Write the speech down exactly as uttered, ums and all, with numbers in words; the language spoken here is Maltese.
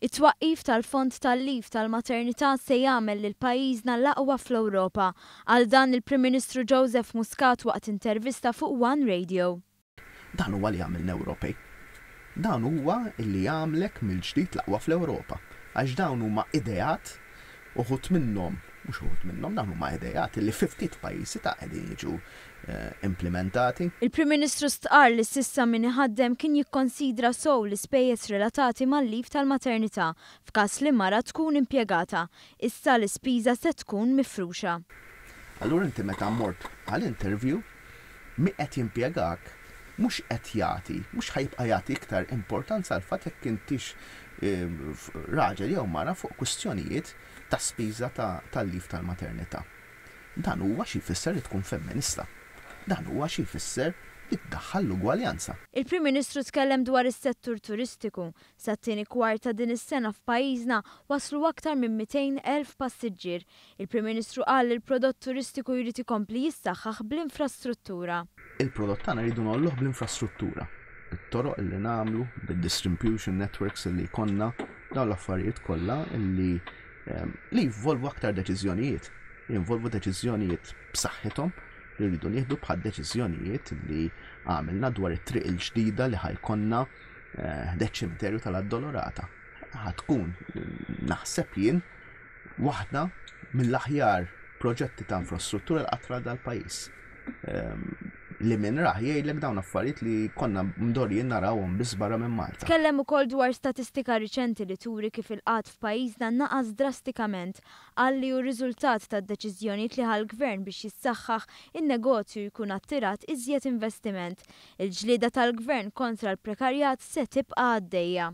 It-twaqqif tal-Fond tal-Leave tal-Maternità se jagħmel lil pajjiżna l-aqwa fl-Ewropa. Qal dan il-Prim Ministru Joseph Muscat waqt intervista fuq One Radio. Dan huwa li għamilna Ewropej. Dan huwa li jagħmlek mill-ġdid l-aqwa fl-Ewropa. Għax dawn huma ideat, uħud minnhom, mhux uħud minnhom, dawn huma ideat li fi ftit pajjiżi ta' qegħdin jiġu implementati. Il-Prim Ministru stqarr li s'issa min iħaddem kien jikkonsidra sew l-ispejjeż relatati mal-leave tal-maternità f'każ li mara tkun impjegata. Issa l-ispiża se tkun mifruxa. Allura inti meta mort għall-interview, min qed jimpjegak mhux qed jagħti, mhux ħa jibqa' jagħti iktar importanza għal fatt jekk intix raġel jew mara fuq kwistjonijiet ta' spiża tal-leave tal-maternità. Dan huwa xi jfisser li tkun femminista. Dan huwa xi jfisser li tdaħħal l-ugwaljanza. Il-Prim Ministru tkellem dwar is-settur turistiku. Sat-tieni kwart ta' din is-sena f'pajjiżna waslu aktar minn mitejn elf passiġġier. Il-Prim Ministru qal li l-prodott turistiku jrid ikompli jissaħħaħ bl-infrastruttura. Il-prodott tagħna rridu ngħolluh bl-infrastruttura. Bit-toroq li nagħmlu, bid-distribution networks li jkollna, dawn l-affarijiet kollha li, ehm, li jinvolvu aktar deċiżjonijiet. Jinvolvu deċiżjonijiet b'saħħithom li rridu nieħdu bħal deċiżjonijiet li għamilna dwar it-triq il-ġdida li ħa jkollna, eh, deċ-ċimiterju tal-Addolorata. Ħa tkun, naħseb jien, waħda mill-aħjar proġetti ta' infrastruttura li qatt ra dal-pajjiż. Ehm, li minn raħ jgħidlek dawn affarijiet li konna mdorrijin narawhom biss barra minn Malta. Tkellem ukoll dwar statistika riċenti li turi kif il-qgħad f'pajjiżna naqas drastikament. Qal li hu riżultat tad-deċiżjonijiet li ħa l-gvern biex jissaħħaħ in-negozju jkun attirat iżjed investiment. Il-ġlieda tal-gvern kontra l-prekarjat se tibqa' għaddejja.